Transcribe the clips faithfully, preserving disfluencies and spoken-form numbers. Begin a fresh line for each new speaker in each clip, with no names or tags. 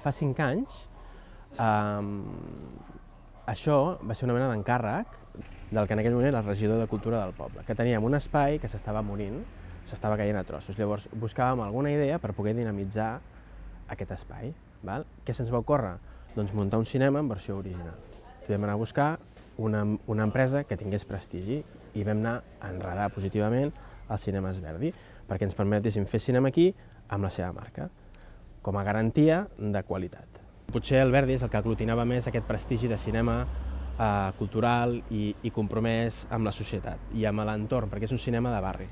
Fa cinc anys, això va ser una mena d'encàrrec del que en aquell moment era el regidor de Cultura del poble, que teníem un espai que s'estava morint, s'estava caient a trossos. Llavors buscàvem alguna idea per poder dinamitzar aquest espai. Què se'ns va ocórrer? Doncs muntar un cinema en versió original. Vam anar a buscar una, una empresa que tingués prestigi i vam anar a enredar positivament els cinemes Verdi perquè ens permetessin fer cinema aquí amb la seva marca, com a garantia de qualitat. Potser el Verdi és el que aglutinava més aquest prestigi de cinema eh, cultural i, i compromès amb la societat i amb l'entorn, perquè és un cinema de barri.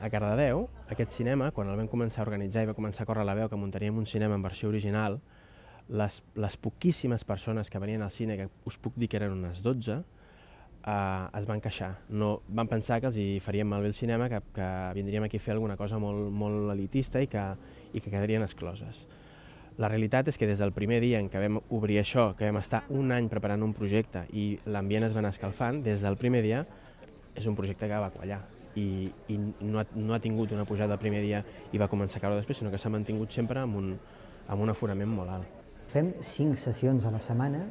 A Cardedeu, aquest cinema, quan el vam començar a organitzar i va començar a córrer la veu que muntaríem un cinema en versió original, les, les poquíssimes persones que venien al cine, que us puc dir que eren unes dotze, eh, es van queixar. No, van pensar que els hi faríem malbé el cinema, que, que vindríem aquí a fer alguna cosa molt, molt elitista i que, i que quedarien excloses. La realitat és que des del primer dia en què vam obrir això, que vam estar un any preparant un projecte i l'ambient es va anar escalfant, des del primer dia és un projecte que va quallar. I, i no, ha, no ha tingut una pujada el primer dia i va començar a caure després, sinó que s'ha mantingut sempre amb un, amb un aforament molt alt.
Fem cinc sessions a la setmana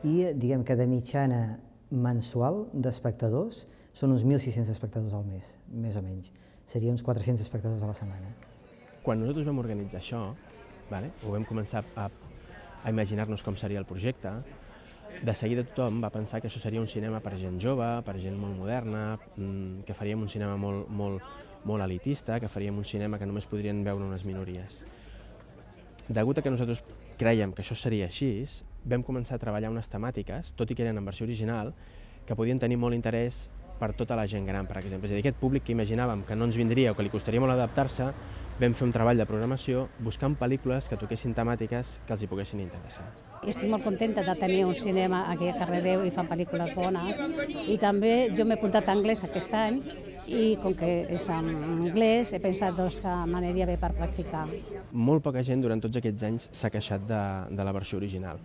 i diguem que de mitjana mensual d'espectadors són uns mil sis-cents espectadors al mes, més o menys. Seria uns quatre-cents espectadors a la setmana.
Quan nosaltres vam organitzar això, vale, ho vam començar a, a imaginar-nos com seria el projecte, de seguida tothom va pensar que això seria un cinema per gent jove, per gent molt moderna, que faríem un cinema molt, molt, molt elitista, que faríem un cinema que només podrien veure unes minories. Degut a que nosaltres crèiem que això seria així, vam començar a treballar unes temàtiques, tot i que eren en versió original, que podien tenir molt interès per tota la gent gran, per exemple. És a dir, aquest públic que imaginàvem que no ens vindria o que li costaria molt adaptar-se, vam fer un treball de programació buscant pel·lícules que toquessin temàtiques que els hi poguessin interessar.
Estic molt contenta de tenir un cinema aquí a Cardedeu i fan pel·lícules bones. I també jo m'he apuntat a anglès aquest any i com que és en anglès he pensat doncs, que m'aniria bé per practicar.
Molt poca gent durant tots aquests anys s'ha queixat de, de la versió original.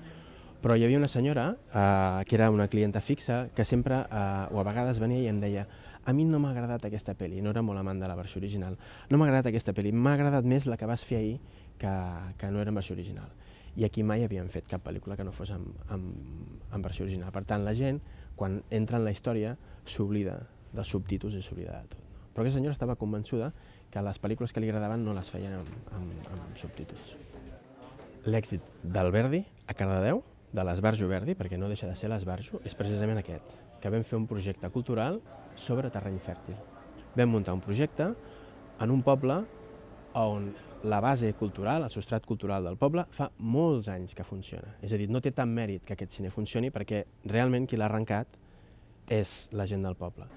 Però hi havia una senyora, eh, que era una clienta fixa, que sempre, eh, o a vegades venia i em deia a mi no m'ha agradat aquesta pel·li, no era molt amant de la versió original, no m'ha agradat aquesta pel·li, m'ha agradat més la que vas fer ahir que, que no era en versió original. I aquí mai havíem fet cap pel·lícula que no fos en, en, en versió original. Per tant, la gent, quan entra en la història, s'oblida dels subtítols i s'oblida de tot. No? Però aquesta senyora estava convençuda que les pel·lícules que li agradaven no les feien amb, amb, amb subtítols. L'èxit del Verdi a Cardedeu, de l'Esbarjo Verdi, perquè no deixa de ser l'Esbarjo, és precisament aquest, que vam fer un projecte cultural sobre terreny fèrtil. Vam muntar un projecte en un poble on la base cultural, el substrat cultural del poble, fa molts anys que funciona. És a dir, no té tant mèrit que aquest cine funcioni perquè realment qui l'ha arrencat és la gent del poble.